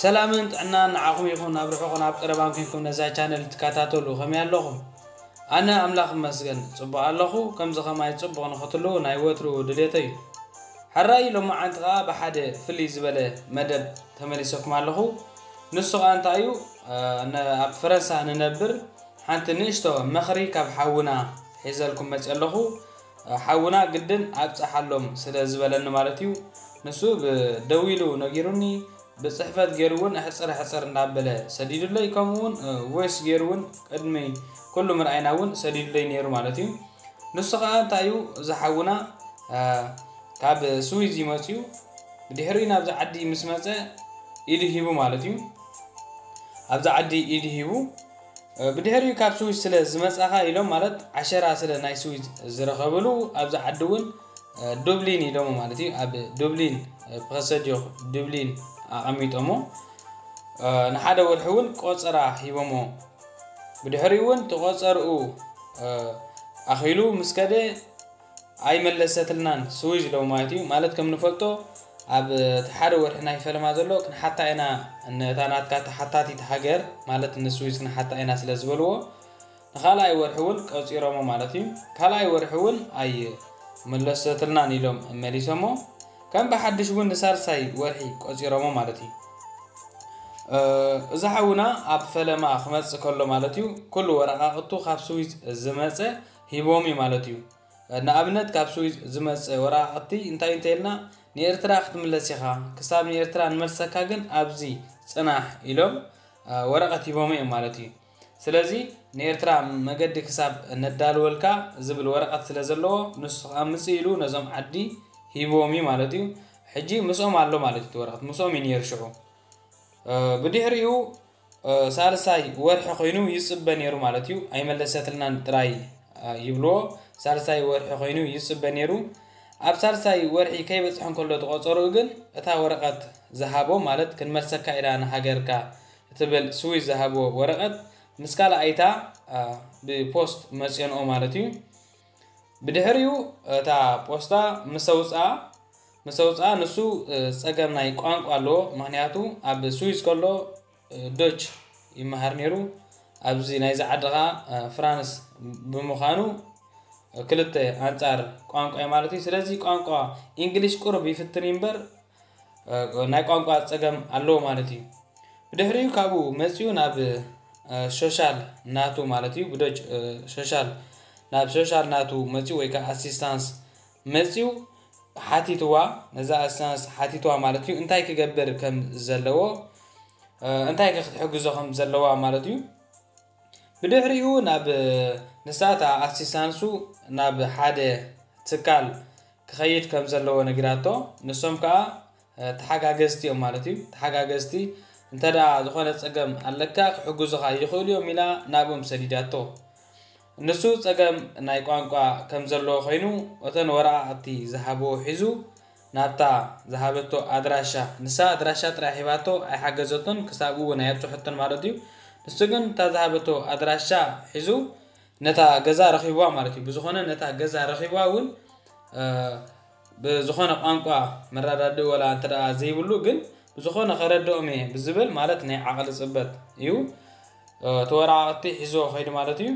ሰላምን ጥዕናን ንዓኹም ይኹን። ኣብ ርሑቕን ኣብ ቀረባን ኮንኩም ነዛ ቻነል ትከታተሉ ከመይ ኣለኹም? ኣነ ኣምላኽ ይመስገን ጽቡቕ ኣለኹ። ከምዚ ከማይ ጽቡቕ ንኽትህልዉ ናይ ወትሩ ድሌተይ እዩ። ሕራይ ሎማዓንቲ ኸኣ ብሓደ ፍልይ ዝበለ መደብ ተመሊሰኩም ኣለኹ። ንሱ ኸኣ እንታይ እዩ? እ፣ ነ-፣ ኣብ ፈረንሳ ንነብር ሓንቲ ንእሽቶ ምኽሪ ካብ ሓውና ሒዘልኩም መጽእ ኣለኹ። ሓውና ግድን ኣብጽሓሎም ስለ ዝበለኒ ማለት እዩ። ንሱ ብ-፣ ደዊሉ ነጊሩኒ፣ ብጽሕፈት ገይሩ እውን ሕጽር ሕጽር እንዳበለ ሰዲዱለይ፣ ከምኡ እውን፣ እ፣ ቮይስ ገይሩ እውን ቅድሚ ኩሉ ምርኣይና እውን ሰዲዱለይ ነይሩ ማለት እዩ። ንሱ ኸኣ እንታይ እዩ፣ እዚ ሓውና፣ እ፣ ካብ ስዊዝ እዩ መጽዩ። ብድሕሪኡ ናብዚ ዓዲ ምስ መጸ ኢዱ ሂቡ ማለት እዩ። ኣብዚ ዓዲ ኢዱ ሂቡ፣ እ፣ ብድሕሪኡ ካብ ስዊዝ ስለ ዝመጻኻ ኢሎም፣ ማለት ዓሸራ ስለ ናይ ስዊዝ ዝረኸብሉ፣ ኣብዚ ዓዲ እውን፣ እ፣ ዱብሊን ኢሎሞ ማለት እዩ። ኣብ ዱብሊን፣ እ፣ ፕረሰዲዮ ዱብሊን ኣቐሚጦሞ፣ እ፣ ንሓደ ወርሒ እውን ቆጸራ ሂቦሞ። ብድሕሪኡ እውን ተቖጸርኡ፣ እ፣ ኣኺሉ ምስ ከደ ኣይመለሰትልናን ስዊዝ ኢሎም ማለት እዩ። ማለት ከም ንፈልጦ ኣብ እቲ ሓደ ወርሒ ናይ ፈለማ ዘሎ ክንሓታ ኢና፣ ነታ ናትካ ተሓታቲት ሃገር ማለት ንስዊዝ ክንሓታ ኢና ስለ ዝበልዎ፣ ንኻልኣይ ወርሒ እውን ቀጺሮሞ ማለት እዩ። ካልኣይ ወርሒ እውን ኣይመለሰትልናን ኢሎም መሊሶሞ። ከም ብሓድሽ እውን ንሳልሳይ ወርሒ ቀጺሮሞ ማለት እዩ። እ፣ እዚ ሓውና ኣብ ፈለማ ክመጽእ ከሎ ማለት እዩ፣ ኩሉ ወረቓቕቱ ካብ ስዊዝ ዝመጸ ሂቦም እዩ ማለት እዩ። ንኣብነት ካብ ስዊዝ ዝመጸ ወረቓቕቲ እንታይ እንተኢልና፣ ንኤርትራ ክትምለስ ኢኻ፣ ክሳብ ንኤርትራ ንመልሰካ ግን ኣብዚ ጽናሕ ኢሎም፣ እ፣ ወረቐት ሂቦም እዮም ማለት እዩ። ስለዚ ንኤርትራ መገዲ ክሳብ ነዳልወልካ ዝብል ወረቐት ስለ ዘለዎ፣ ንሱ ከኣ ምጽእ ኢሉ ነዞም ዓዲ ሂብዎም እዩ ማለት እዩ። ሕጂ ምስኦም ኣሎ ማለት እዩ፣ እቲ ወረቐት ምስኦም እዩ ነይሩ ሽዑ። እ፣ ብድሕሪኡ፣ እ፣ ሳልሳይ ወርሒ ኮይኑ ይጽበ ነይሩ ማለት እዩ። ኣይመለሰትልናን ጥራይ፣ እ፣ ይብልዎ። ሳልሳይ ወርሒ ኮይኑ ይጽበ ነይሩ። ኣብ ሳልሳይ ወርሒ ከይበጽሐ እንከሎ ተቖጸርኡ ግን እታ ወረቐት ዝሃቦ፣ ማለት ክንመልሰካ ኢና ንሃገርካ እትብል ስዊዝ ዝሃቦ ወረቐት ምስ ካልኣይታ፣ እ፣ ብፖስት መጽዮንኦ ማለት እዩ። ብድሕሪኡ እታ ፖስታ ምስ ኣውጽኣ፣ ምስ ኣውጽኣ ንሱ፣ እ፣ ጸገም ናይ ቋንቋ ኣለዎ። ምኽንያቱ ኣብ ስዊዝ ከሎ፣ እ፣ ዶች ይመሃር ነይሩ። ኣብዚ ናይዚ ዓዲ ኸኣ፣ እ፣ ፍራንስ ብምዃኑ፣ እ፣ ክልተ ኣንጻር ቋንቋ እዩ ማለት እዩ። ስለዚ ቋንቋ ኢንግሊሽ ቁሩብ ይፍትን እዩ እምበር፣ እ፣ ናይ ቋንቋ ጸገም ኣለዎ ማለት እዩ። ብድሕሪኡ ካብኡ መጺኡ ናብ፣ እ፣ ሶሻል ናቱ ማለት እዩ፣ ብዶች፣ እ፣ ሶሻል፣ ናብ ሶሻል ናቱ መጺኡ ወይ ከኣ ኣሲስታንስ መጺኡ ሓቲትዋ፣ ነዛ ኣሲስታንስ ሓቲትዋ ማለት እዩ፣ እንታይ ክገብር ከም ዘለዎ፣ እ፣ እንታይ ከ ክትሕግዞ ከም ዘለዋ ማለት እዩ። ብድሕሪኡ ናብ፣ ንሳ እታ ኣሲስታንሱ ናብ ሓደ ትካል ክኸይድ ከም ዘለዎ ነጊራቶ። ንሶም ከኣ፣ እ፣ ተሓጋገዝቲ እዮም ማለት እዩ። ተሓጋገዝቲ፣ እንተ ደኣ ዝኾነ ጸገም ኣለካ ክሕግዙኻ ይኽእሉ እዮም ኢላ ናብኦም ሰዲዳቶ። ንሱ ጸገም ናይ ቋንቋ ከም ዘለዎ ኮይኑ፣ እተን ወረቓቕቲ ዝሃብዎ ሒዙ ናብታ ዝሃበቶ ኣድራሻ፣ ንሳ ኣድራሻ ጥራይ ሂባቶ ኣይሓገዘቶን፣ ክሳብ እውን ኣየብጽሐቶን ማለት እዩ። ንሱ ግን እታ ዝሃበቶ ኣድራሻ ሒዙ ነታ ገዛ ረኺብዋ ማለት እዩ። ብዝኾነ ነታ ገዛ ረኺብዋ እውን፣ እ፣ ብዝኾነ ቋንቋ መረዳድኢ ወላ እንተ ደኣ ዘይብሉ ግን ብዝኾነ ከረድኦም እየ ብዝብል ማለት ናይ ዓቕሊ ጽበት እዩ። እ፣ እቲ ወረቓቕቲ ሒዞ ኸይዱ ማለት እዩ።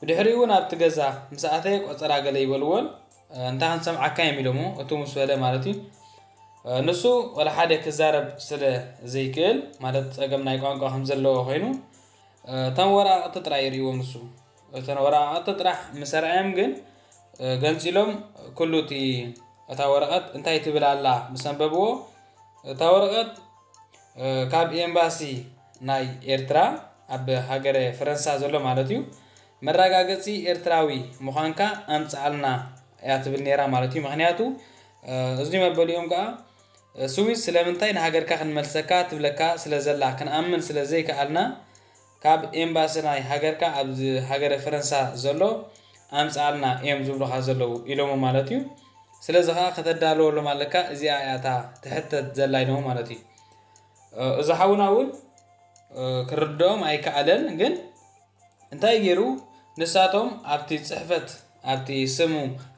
ብድሕሪኡ እውን ኣብቲ ገዛ ምስ ኣተየ ቆጸራ ገለ ይበልዎን፣ እ፣ እንታይ ክንሰምዓካ እዮም ኢሎሞ፣ እቱ ምስ በለ ማለት እዩ። እ፣ ንሱ ወላ ሓደ ክዛረብ ስለ ዘይክእል፣ ማለት ጸገም ናይ ቋንቋ ከም ዘለዎ ኮይኑ፣ እ፣ እተን ወረቓቕቲ ጥራይ ይርእዎም ንሱ። እተን ወረቓቕቲ ጥራሕ ምስ ኣርኣዮም ግን፣ እ፣ ገንጺሎም ኩሉ እቲ፣ እታ ወረቐት እንታይ ትብል ኣላ ምስ ኣንበብዎ፣ እታ ወረቐት፣ እ፣ ካብ ኤምባሲ ናይ ኤርትራ ኣብ ሃገረ ፈረንሳ ዘሎ ማለት እዩ፣ መረጋገጺ ኤርትራዊ ምዃንካ ኣምጽኣልና እያ ትብል ነይራ ማለት እዩ። ምኽንያቱ፣ እ፣ እዚ መበሊኦም ከኣ፣ እ፣ ስዊስ ስለምንታይ ንሃገርካ ክንመልሰካ ትብለካ ስለ ዘላ ክንኣምን ስለ ዘይከኣልና፣ ካብ ኤምባሲ ናይ ሃገርካ ኣብዚ ሃገረ ፈረንሳ ዘሎ ኣምፅኣልና እዮም ዝብሉኻ ዘለዉ ኢሎሞ ማለት እዩ። ስለዚ ከዓ ከተዳለወሎም ኣለካ። እዚኣ እያ እታ ትሕተት ዘላ ኢሎሞ ማለት እዩ። እዚ ሓውና እውን ክርድኦም ኣይከኣለን። ግን እንታይ ገይሩ? ንሳቶም ኣብቲ ፅሕፈት፣ ኣብቲ ስሙ፣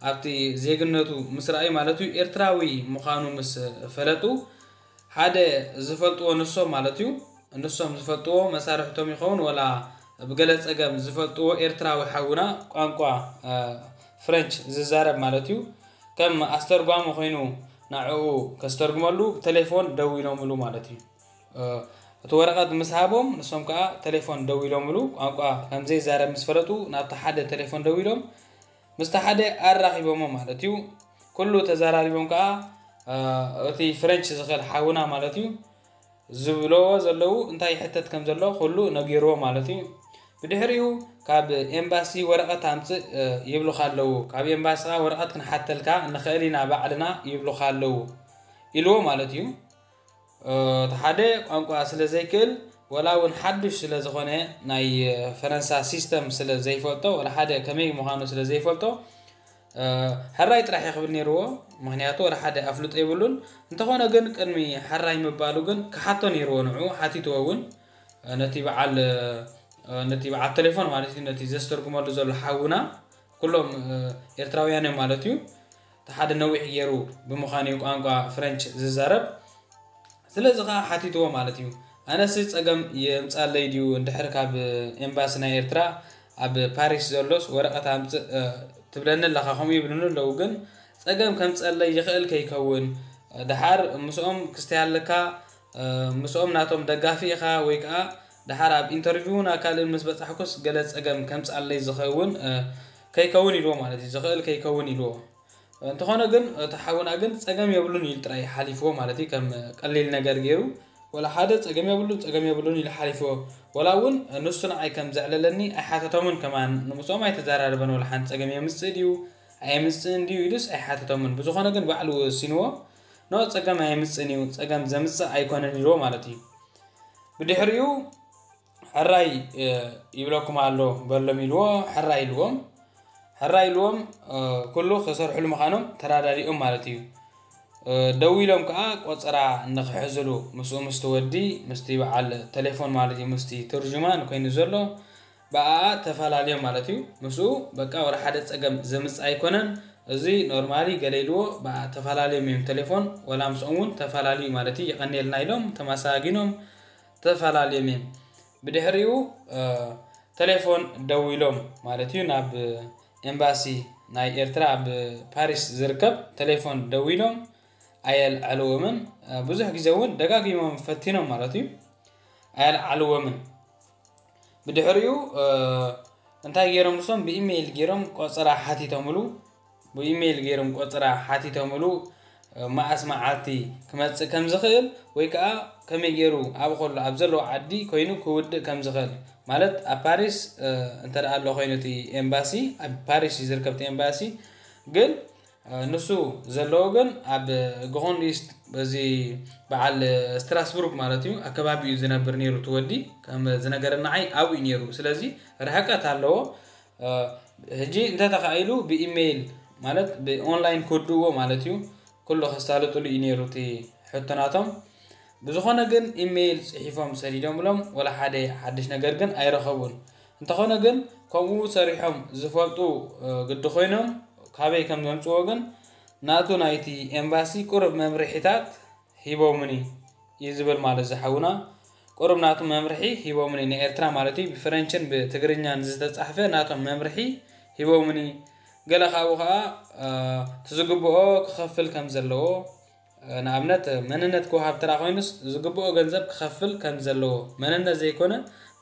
ኣብቲ ዜግነቱ ምስ ረኣዩ ማለት እዩ፣ ኤርትራዊ ምዃኑ ምስ ፈለጡ ሓደ ዝፈልጥዎ ንሶም ማለት እዩ፣ ንሶም ዝፈልጥዎ መሳርሕቶም ይኸውን ወላ ብገለ ፀገም ዝፈልጥዎ ኤርትራዊ ሓውና ቋንቋ ፍረንች ዝዛረብ ማለት እዩ፣ ከም ኣስተርጓሚ ኮይኑ ንዕኡ ከስተርጉመሉ ብቴሌፎን ደዊሎምሉ ማለት እዩ። እቲ ወረቐት ምስ ሃቦም ንሶም ከዓ ቴሌፎን ደዊሎምሉ ቋንቋ ከም ዘይዛረብ ምስ ፈለጡ ናብቲ ሓደ ቴሌፎን ደዊሎም ምስቲ ሓደ ኣራኺቦሞ ማለት እዩ። ኩሉ ተዘራሪቦም ከዓ እቲ ፍረንች ዝኽእል ሓውና ማለት እዩ ዝብለዎ ዘለዉ እንታይ ይሕተት ከም ዘሎ ኩሉ ነጊርዎ ማለት እዩ። ብድሕሪኡ ካብ ኤምባሲ ወረቐት ኣምፅእ ይብሉኻ ኣለዉ። ካብ ኤምባሲ ከዓ ወረቐት ክንሓተልካ ንኽእል ኢና ባዕልና ይብሉኻ ኣለዉ ኢልዎ ማለት እዩ። እቲ ሓደ ቋንቋ ስለ ዘይክእል ወላ እውን ሓዱሽ ስለ ዝኾነ ናይ ፈረንሳ ሲስተም ስለ ዘይፈልጦ ወላ ሓደ ከመይ ምዃኑ ስለ ዘይፈልጦ ሕራይ ጥራሕ እዩ ክብል ነይርዎ። ምክንያቱ ወላ ሓደ ኣፍልጦ የብሉን። እንተኾነ ግን ቅድሚ ሕራይ ምባሉ ግን ክሓቶ ነይርዎ። ንዑ ሓቲትዎ እውን ነቲ በዓል ነቲ በዓል ቴሌፎን ማለት እዩ ነቲ ዘስተርጉመሉ ዘሎ ሓውና ኩሎም ኤርትራውያን እዮም ማለት እዩ። እቲ ሓደ ነዊሕ ገይሩ ብምዃኑ እዩ ቋንቋ ፍረንች ዝዛረብ። ስለዚ ከዓ ሓቲትዎ ማለት እዩ። ኣነሲ ፀገም የምፃለይ ድዩ እንድሕር ካብ ኤምባሲ ናይ ኤርትራ ኣብ ፓሪስ ዘሎስ ወረቐት ኣምፅእ ትብለኒ ኣለኻ ከምኡ ይብሉኒ ኣለዉ። ግን ፀገም ከምፀለይ ይኽእል ከይከውን ድሓር ምስኦም ክስተይ ኣለካ ምስኦም ናቶም ደጋፊ ኢኻ ወይ ከዓ ድሓር ኣብ ኢንተርቪውን ኣካልን ምስ በፃሕኩስ ገለ ፀገም ከምፃለይ ዝኸውን ከይከውን ኢልዎ ማለት እዩ። ዝኽእል ከይከውን ኢልዎ። እንተኾነ ግን እቲ ሓውና ግን ፀገም የብሉን ኢሉ ጥራይ ሓሊፍዎ ማለት እዩ። ከም ቀሊል ነገር ገይሩ ወላ ሓደ ፀገም የብሉን ፀገም የብሉን ኢሉ ሓሊፍዎ። ወላ እውን ንሱ ንዓይ ከም ዘዕለለኒ ኣይሓተቶምን ከማን ንምፅኦም ኣይተዘራረበን ወላ ሓንቲ ፀገም የምፅእ ድዩ ኣየምፅእን ድዩ ኢሉስ ኣይሓተቶምን። ብዝኾነ ግን ባዕሉ ወሲንዎ ኖ ፀገም ኣየምፅእን እዩ ፀገም ዘምፅእ ኣይኮነን ኢልዎ ማለት እዩ። ብድሕሪኡ ሕራይ ይብለኩም ኣሎ በሎም ኢልዎ። ሕራይ ኢልዎም ሕራይ ኢልዎም ኩሉ ክሰርሕሉ ምዃኖም ተራዳዲኦም ማለት እዩ። ደው ኢሎም ከዓ ቆፀራ ንክሕዝሉ ምስኡ ምስቲ ወዲ ምስቲ በዓል ቴሌፎን ማለት እዩ ምስቲ ትርጅማን ኮይኑ ዘሎ ብኣኣ ተፈላለዮም ማለት እዩ። ምስኡ በቃ ወደ ሓደ ፀገም ዘምፅእ ኣይኮነን። እዚ ኖርማሊ ገለ ኢልዎ ብኣኣ ተፈላለዮም እዮም ቴሌፎን ወላ ምስኦም እውን ተፈላለዩ ማለት እዩ። የቐንየልና ኢሎም ተመሳጊኖም ተፈላለዮም እዮም። ብድሕሪኡ ቴሌፎን ደዊሎም ማለት እዩ ናብ ኤምባሲ ናይ ኤርትራ ኣብ ፓሪስ ዝርከብ ቴሌፎን ደዊሎም ኣየልዓልዎምን ብዙሕ ግዜ እውን ደጋጊሞም ፈቲኖም ማለት እዩ ኣየልዓልዎምን። ብድሕሪኡ እንታይ ገይሮም ንሶም ብኢሜይል ገይሮም ቆፀራ ሓቲቶምሉ ብኢሜይል ገይሮም ቆፀራ ሓቲቶምሉ መኣስ መዓልቲ ክመፅእ ከም ዝኽእል ወይ ከዓ ከመይ ገይሩ ኣብ ከሎ ኣብ ዘለዎ ዓዲ ኮይኑ ክውድእ ከም ዝኽእል ማለት ኣብ ፓሪስ እንተ ኣሎ ኮይኑ እቲ ኤምባሲ ኣብ ፓሪስ እዩ ዝርከብ እቲ ኤምባሲ ግን ንሱ ዘለዎ ግን ኣብ ግሮንድ ኢስት በዚ በዓል ስትራስቡርግ ማለት እዩ ኣከባቢ እዩ ዝነብር ነይሩ ትወዲ ከም ዝነገረናዓይ ኣብኡ እዩ ነይሩ ስለዚ ርሕቀት ኣለዎ ሕጂ እንተተኻኢሉ ብኢሜይል ማለት ብኦንላይን ክውድእዎ ማለት እዩ ኩሉ ከሳልጥሉ እዩ ነይሩ እቲ ሕቶናቶም ብዝኾነ ግን ኢሜይል ፅሒፎም ሰዲዶምሎም ወላ ሓደ ሓድሽ ነገር ግን ኣይረኸቡን እንተኾነ ግን ከምኡ ሰሪሖም ዝፈልጡ ግዲ ኮይኖም ካበይ ከም ዘምፅዎ ግን ናቱ ናይቲ ኤምባሲ ቁርብ መምርሒታት ሂቦምኒ እዩ ዝብል ማለት ዝሓውና ቁርብ ናቱ መምርሒ ሂቦምኒ ንኤርትራ ማለት እዩ ብፍረንችን ብትግርኛን ዝተፃሕፈ ናቶም መምርሒ ሂቦምኒ ገለ ካብኡ ከዓ ትዝግብኦ ክኸፍል ከም ዘለዎ ንኣብነት መንነት ክወሃብ ተራ ኮይኑስ ዝግብኦ ገንዘብ ክኸፍል ከም ዘለዎ መንነት ዘይኮነ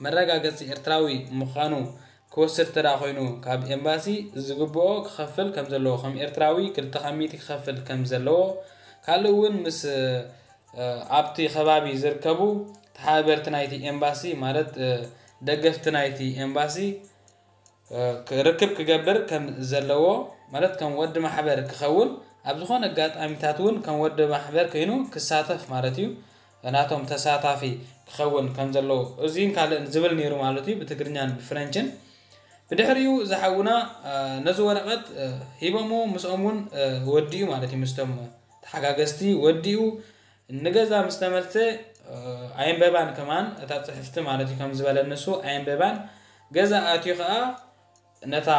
መረጋገፂ ኤርትራዊ ምዃኑ ክወስድ ተዳ ኮይኑ ካብ ኤምባሲ ዝግብኦ ክኸፍል ከም ዘለዎ ከም ኤርትራዊ ክልተ ሚእቲ ክኸፍል ከም ዘለዎ ካልእ እውን ምስ ኣብቲ ከባቢ ዝርከቡ ተሓበርቲ ናይቲ ኤምባሲ ማለት ደገፍቲ ናይቲ ኤምባሲ ርክብ ክገብር ከም ዘለዎ ማለት ከም ወዲ ማሕበር ክኸውን ኣብ ዝኾነ ኣጋጣሚታት እውን ከም ወዲ ማሕበር ኮይኑ ክሳተፍ ማለት እዩ ናቶም ተሳታፊ ክኸውን ከም ዘለዎ እዚን ካልእን ዝብል ነይሩ ማለት እዩ፣ ብትግርኛን ብፍረንችን። ብድሕሪኡ ዝሓውና ነዚ ወረቐት ሂቦሞ ምስኦም እውን ወዲኡ ማለት እዩ፣ ምስቶም ተሓጋገዝቲ ወዲኡ ንገዛ ምስ ተመልሰ ኣየንበባን ከማን እታ ፅሕፍቲ ማለት እዩ። ከም ዝበለ ንሱ ኣየንበባን ገዛ ኣትዩ ከዓ ነታ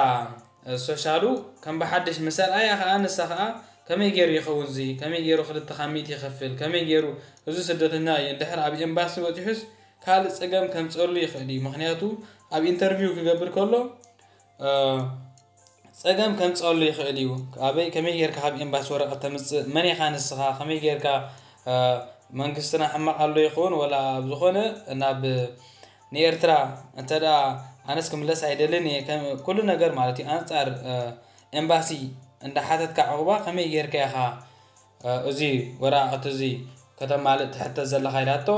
ሶሻሉ ከም ብሓድሽ ምስ ኣርኣያ ከዓ ንሳ ከዓ ከመይ ገይሩ ይኸውን እዚ፣ ከመይ ገይሩ ክልተ ካብ ሚእቲ ይኸፍል፣ ከመይ ገይሩ እዚ ስደተኛ እዩ እንድሕር ኣብ ኤምባሲ በፂሑስ ካልእ ፀገም ከምፀሉ ይኽእል እዩ። ምክንያቱ ኣብ ኢንተርቪው ክገብር ከሎ ፀገም ከምፀሉ ይኽእል እዩ። ኣበይ ከመይ ጌርካ ካብ ኤምባሲ ወረቐት ተምፅእ፣ መን ኢኻ ንስኻ፣ ከመይ ጌርካ መንግስትና ሕማቕ ኣሎ ይኸውን ወላ ኣብ ዝኾነ ናብ ንኤርትራ እንተ ደኣ ኣነስ ክምለስ ኣይደልን እየ፣ ኩሉ ነገር ማለት እዩ ኣንጻር ኤምባሲ እንዳሓተትካ ዕቑባ ከመይ ጌርካ ኢኻ እዚ ወረቓቕቲ እዚ ከተማልእ ትሕተት ዘለኻ ኢላቶ።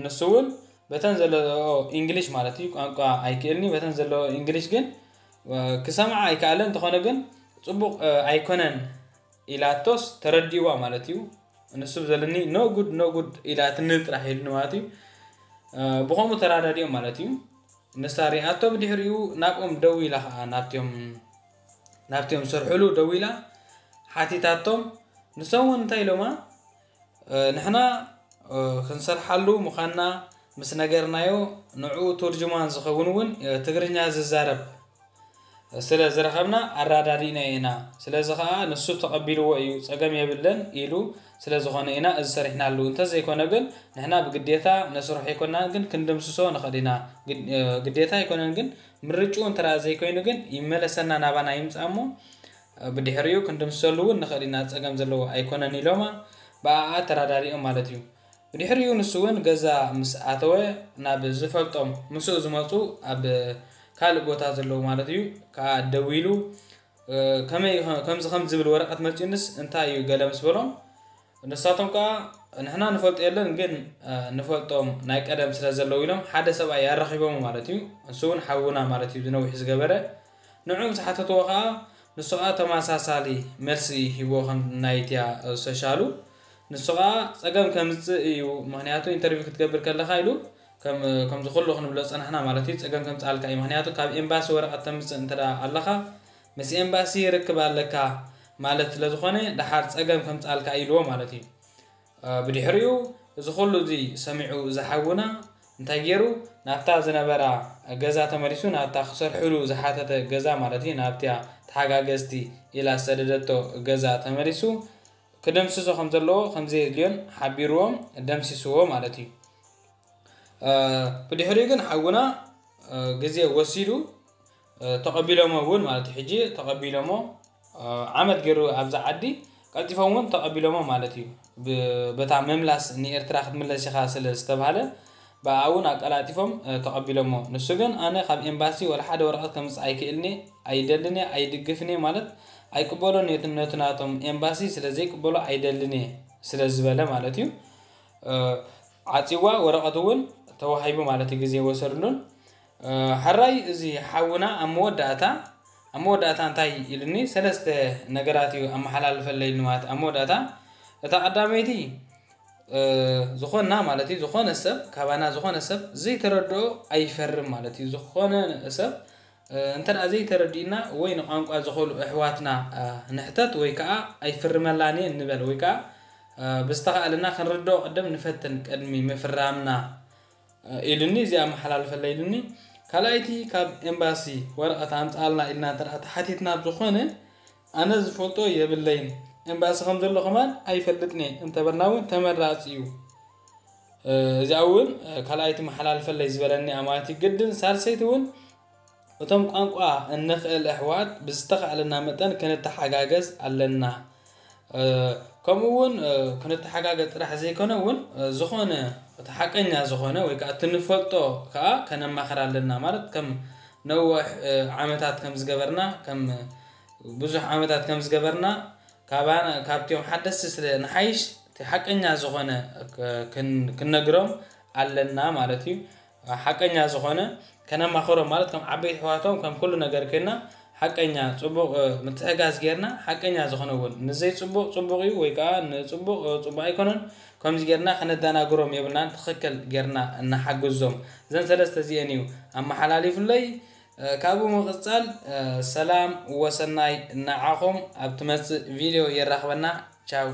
ንሱ እውን በተን ዘለዎ ኢንግሊሽ ማለት እዩ ቋንቋ ኣይክእልኒ በተን ዘለዎ ኢንግሊሽ ግን ክሰምዓ ኣይከኣለን። እንተኾነ ግን ፅቡቕ ኣይኮነን ኢላቶስ ተረዲእዋ ማለት እዩ። ንሱ ዘለኒ no good no good ኢላትኒ ጥራሕ ኢሉኒ ማለት እዩ። ብኸምኡ ተራዳዲኦም ማለት እዩ። ንሳ ሪኣቶ ብድሕሪኡ ናብኦም ደዊላ ከዓ ናብቲኦም ናብቲኦም ዝሰርሕሉ ደዊላ ሓቲታቶም። ንሶም እውን እንታይ ኢሎማ ንሕና ክንሰርሓሉ ምዃንና ምስ ነገርናዮ ንዕኡ ቱርጅማን ዝኸውን እውን ትግርኛ ዝዛረብ ስለ ዝረኸብና ኣራዳዲእና ኢና። ስለዚ ከዓ ንሱ ተቐቢልዎ እዩ፣ ፀገም የብለን ኢሉ ስለ ዝኾነ ኢና እዚ ሰሪሕናሉ። እንተዘይኮነ ግን ንሕና ብግዴታ ነስርሖ ኣይኮናን፣ ግን ክንድምስሶ ንኽእል ኢና። ግዴታ ኣይኮነን፣ ግን ምርጭኡ እንተ ዘይኮይኑ ግን ይመለሰና ናባና ይምፃእ እሞ ብድሕሪኡ ክንድምስሰሉ እውን ንኽእል ኢና፣ ፀገም ዘለዎ ኣይኮነን ኢሎማ ብኣኣ ተራዳዲኦም ማለት እዩ። ብድሕሪኡ ንሱ እውን ገዛ ምስ ኣተወ ናብ ዝፈልጦም ምስኡ ዝመፁ ኣብ ካልእ ቦታ ዘለዉ ማለት እዩ ከዓ ደዊሉ ከመይ ከምዚ ከም ዝብል ወረቐት መፂኡንስ እንታይ እዩ ገለ ምስ በሎም ንሳቶም ከዓ ንሕና ንፈልጦ የለን ግን ንፈልጦም ናይ ቀደም ስለ ዘለዉ ኢሎም ሓደ ሰብኣይ ኣረኺቦም ማለት እዩ። ንሱ እውን ሓውና ማለት እዩ ዝነዊሕ ዝገበረ ንዑ ምስ ሓተትዎ ከዓ ንሱ ከዓ ተመሳሳሊ መልሲ ሂቦ ከም ናይትያ ሶሻሉ ንሱ ከዓ ፀገም ከምፅእ እዩ። ምክንያቱ ኢንተርቪው ክትገብር ከለካ ኢሉ ከምዚ ኩሉ ክንብሎ ዝፀናሕና ማለት እዩ ፀገም ከምፅኣልካ እዩ። ምክንያቱ ካብ ኤምባሲ ወረቐት ተምፅእ እንተ ኣለካ ምስ ኤምባሲ ርክብ ኣለካ ማለት ስለዝኮነ ደሓር ፀገም ከምፅኣልካ ኢልዎ ማለት እዩ። ብድሕሪኡ እዚ ኩሉ እዚ ሰሚዑ ዝሓውና እንታይ ገይሩ ናብታ ዝነበራ ገዛ ተመሊሱ ናብታ ክሰርሕሉ ዝሓተተ ገዛ ማለት እዩ ናብቲያ ተሓጋገዝቲ ኢላ ዝሰደደቶ ገዛ ተመሊሱ ክደምስሶ ከም ዘለዎ ከም ዘየድልዮን ሓቢርዎም ደምሲስዎ ማለት እዩ። ብድሕሪኡ ግን ሓውና ግዜ ወሲዱ ተቐቢሎሞ እውን ማለት እዩ። ሕጂ ተቐቢሎሞ ዓመት ገይሩ ኣብዚ ዓዲ ቀልጢፎም እውን ተቐቢሎሞ ማለት እዩ። በታ ምምላስ ንኤርትራ ክትምለስ ኢኻ ስለ ዝተባሃለ ብኣ እውን ኣቀላጢፎም ተቐቢሎሞ። ንሱ ግን ኣነ ካብ ኤምባሲ ወላ ሓደ ወረቐት ከምፅእ ኣይክእልኒ ኣይደልን እየ ኣይድግፍን እየ ማለት ኣይቅበሎን እየ ነቲ ናቶም ኤምባሲ ስለ ዘይቅበሎ ኣይደልን እየ ስለ ዝበለ ማለት እዩ። ዓፂዋ ወረቐት እውን ተዋሂቡ ማለት እዩ። ግዜ ወሰድሉን ሕራይ እዚ ሓውና ኣብ መወዳእታ ኣብ መወዳእታ እንታይ ኢሉኒ ሰለስተ ነገራት እዩ ኣመሓላልፈለይ ኢሉኒ ማለት ኣብ መወዳእታ እታ ቀዳመይቲ ዝኾና ማለት እዩ ዝኾነ ሰብ ካባና ዝኾነ ሰብ ዘይተረድኦ ኣይፈርም ማለት እዩ። ዝኾነ ሰብ እንተ ዘይተረዲእና ወይ ንቋንቋ ዝኽእሉ ኣሕዋትና ንሕተት ወይ ከዓ ኣይፍርመላን እየ ንበል ወይ ከዓ ብዝተኻእለና ክንርድኦ ቅድም ንፈትን ቅድሚ ምፍራምና ኢሉኒ። እዚኣ ኣመሓላልፈላ ኢሉኒ። ካልኣይቲ ካብ ኤምባሲ ወረቐት ኣምፅኣልና ኢልና እንተ ተሓቲትና ዝኾነ ኣነ ዝፈልጦ የብለይን። ኤምባሲ ከም ዘሎ ከማን ኣይፈልጥን እየ እንተበልና እውን ተመራፂ እዩ። እዚኣ እውን ካልኣይቲ መሓላልፈለይ ዝበለኒ ኣማት ግድን ሳልሰይቲ እውን እቶም ቋንቋ እንኽእል ኣሕዋት ብዝተኻእለና መጠን ክንተሓጋገዝ ኣለና። ከምኡ እውን ክንተሓጋገዝ ጥራሕ ዘይኮነ እውን ዝኾነ እቲ ሓቀኛ ዝኾነ ወይ ከዓ እቲ ንፈልጦ ከዓ ከነማኽር ኣለና ማለት ከም ነዊሕ ዓመታት ከም ዝገበርና ከም ብዙሕ ዓመታት ከም ዝገበርና ካባና ካብቲኦም ሓደስቲ ስለ ንሓይሽ እቲ ሓቀኛ ዝኾነ ክነግሮም ኣለና ማለት እዩ። ሓቀኛ ዝኾነ ከነማኽሮም ማለት ከም ዓበይቲ ኣሕዋቶም ከም ኩሉ ነገር ኮይና ሓቀኛ ጽቡቕ ምትሕጋዝ ጌርና፣ ሓቀኛ ዝኾነ እውን ንዘይጽቡቕ ጽቡቕ እዩ ወይ ከዓ ንጽቡቕ ጽቡቕ ኣይኮነን፣ ከምዚ ጌርና ከነደናግሮም የብልናን። ትኽክል ጌርና እናሓግዞም። እዘን ሰለስተ እዚአን እዩ ኣመሓላሊፉለይ። ካብኡ ምቕጻል ሰላም ወሰናይ ንዓኹም። ኣብ ትመጽእ ቪድዮ የራኽበና። ቻው።